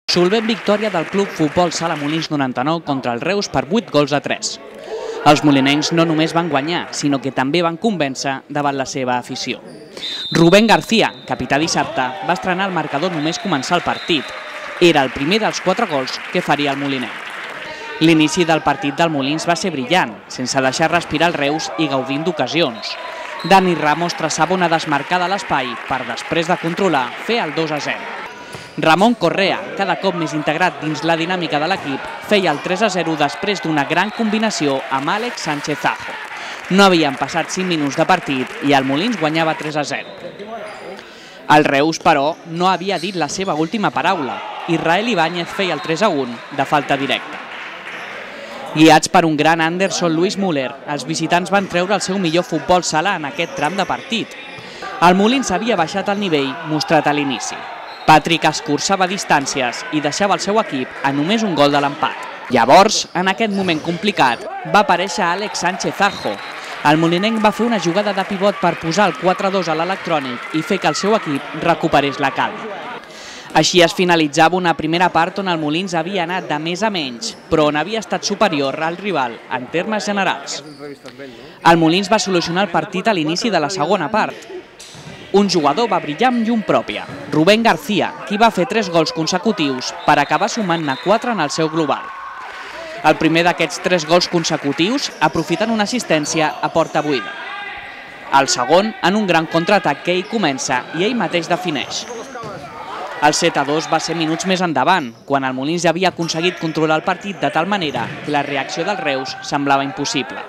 Solvent victòria del Club Futbol Sala Molins 99 contra el Reus per 8-3. Els molinencs no només van guanyar, sinó que també van convèncer davant la seva afició. Rubén García, capità dissabte, va estrenar el marcador només començar el partit. Era el primer dels 4 gols que faria el molinenc. L'inici del partit del Molins va ser brillant, sense deixar respirar el Reus i gaudint d'ocasions. Dani Ramos traçava una desmarcada a l'espai per, després de controlar, fer el 2-0. Ramon Correa, cada cop més integrat dins la dinàmica de l'equip, feia el 3-0 després d'una gran combinació amb Àlex Sánchez Ajo. No havien passat 5 minuts de partit i el Molins guanyava 3-0. El Reus, però, no havia dit la seva última paraula. Israel Ibáñez feia el 3-1 de falta directa. Guiats per un gran Anderson Luis Müller, els visitants van treure el seu millor futbol sala en aquest tram de partit. El Molins havia baixat el nivell mostrat a l'inici. Patrick escurçava distàncies i deixava el seu equip a només un gol de l'empat. Llavors, en aquest moment complicat, va aparèixer Àlex Sánchez Ajo. El molinenc va fer una jugada de pivot per posar el 4-2 a l'electrònic i fer que el seu equip recuperés la calma. Així es finalitzava una primera part on el Molins havia anat de més a menys, però on havia estat superior al rival en termes generals. El Molins va solucionar el partit a l'inici de la segona part. Un jugador va brillar amb llum pròpia, Rubén García, qui va fer 3 gols consecutius per acabar sumant-ne 4 en el seu global. El primer d'aquests 3 gols consecutius aprofitant una assistència a porta buida. El segon en un gran contraatac que ell comença i ell mateix defineix. El 7-2 va ser minuts més endavant, quan el Molins ja havia aconseguit controlar el partit de tal manera que la reacció del Reus semblava impossible.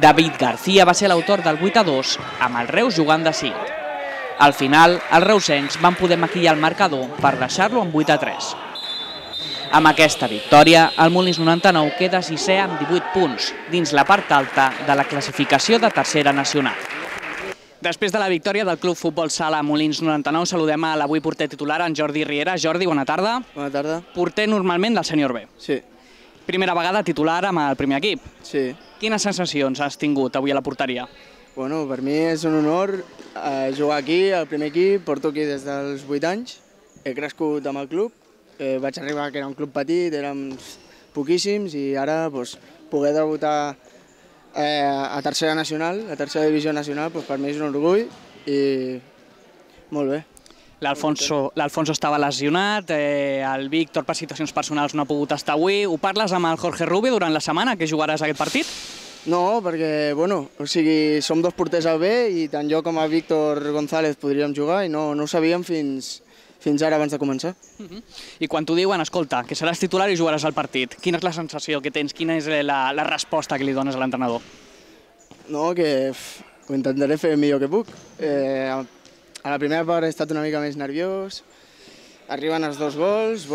David García va ser l'autor del 8-2, amb el Reus jugant de 5. Al final, els reusencs van poder maquillar el marcador per deixar-lo amb 8-3. Amb aquesta victòria, el Molins 99 queda 6è amb 18 punts, dins la part alta de la classificació de tercera nacional. Després de la victòria del Club Futbol Sala Molins 99, saludem a l'avui porter titular, en Jordi Riera. Jordi, bona tarda. Bona tarda. Porter normalment del sènior B. Sí. Primera vegada titular amb el primer equip. Sí. Quines sensacions has tingut avui a la porteria? Bueno, per mi és un honor jugar aquí, al primer equip. Porto aquí des dels 8 anys. He crescut amb el club. Vaig arribar que era un club petit, érem poquíssims i ara poder debutar a tercera nacional, a tercera divisió nacional, per mi és un orgull i molt bé. L'Alfonso estava lesionat, el Víctor per situacions personals no ha pogut estar avui. Ho parles amb el Jorge Rubio durant la setmana que jugaràs aquest partit? No, perquè, som 2 porters al B i tant jo com el Víctor González podríem jugar i no ho sabíem fins ara abans de començar. I quan t'ho diuen, escolta, que seràs titular i jugaràs al partit, quina és la sensació que tens? Quina és la resposta que li dones a l'entrenador? No, que ho intentaré fer el millor que puc. A la primera part he estat una mica més nerviós, arriben els 2 gols,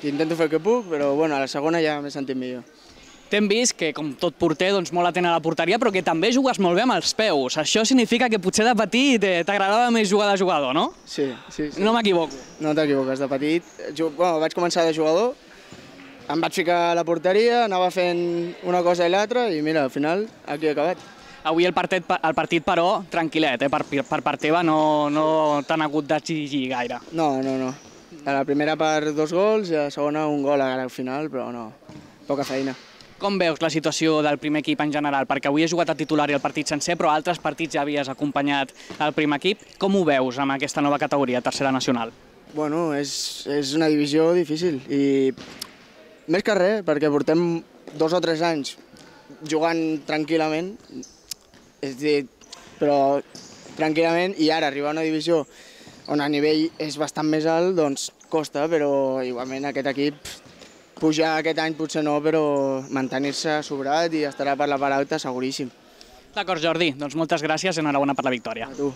intento fer el que puc, però a la segona ja m'he sentit millor. T'hem vist que, com tot porter, molt atent a la porteria, però que també jugues molt bé amb els peus. Això significa que potser de petit t'agradava més jugar de jugador, no? Sí. No m'equivoco. No t'equivoques, de petit. Vaig començar de jugador, em vaig ficar a la porteria, anava fent una cosa i l'altra i mira, al final aquí he acabat. Avui el partit, però, tranquil·let, per part teva no t'han hagut d'exigir gaire. No. A la primera part 2 gols i a la segona un gol al final, però no, poca feina. Com veus la situació del primer equip en general? Perquè avui has jugat a titular i el partit sencer, però altres partits ja havies acompanyat el primer equip. Com ho veus amb aquesta nova categoria, tercera nacional? És una divisió difícil i més que res, perquè portem 2 o 3 anys jugant tranquil·lament, però tranquil·lament, i ara arribar a una divisió on el nivell és bastant més alt, doncs costa, però igualment aquest equip pujar aquest any potser no, però mantenir-se sobrat i estarà per la part alta seguríssim. D'acord, Jordi, doncs moltes gràcies i enhorabona per la victòria. A tu.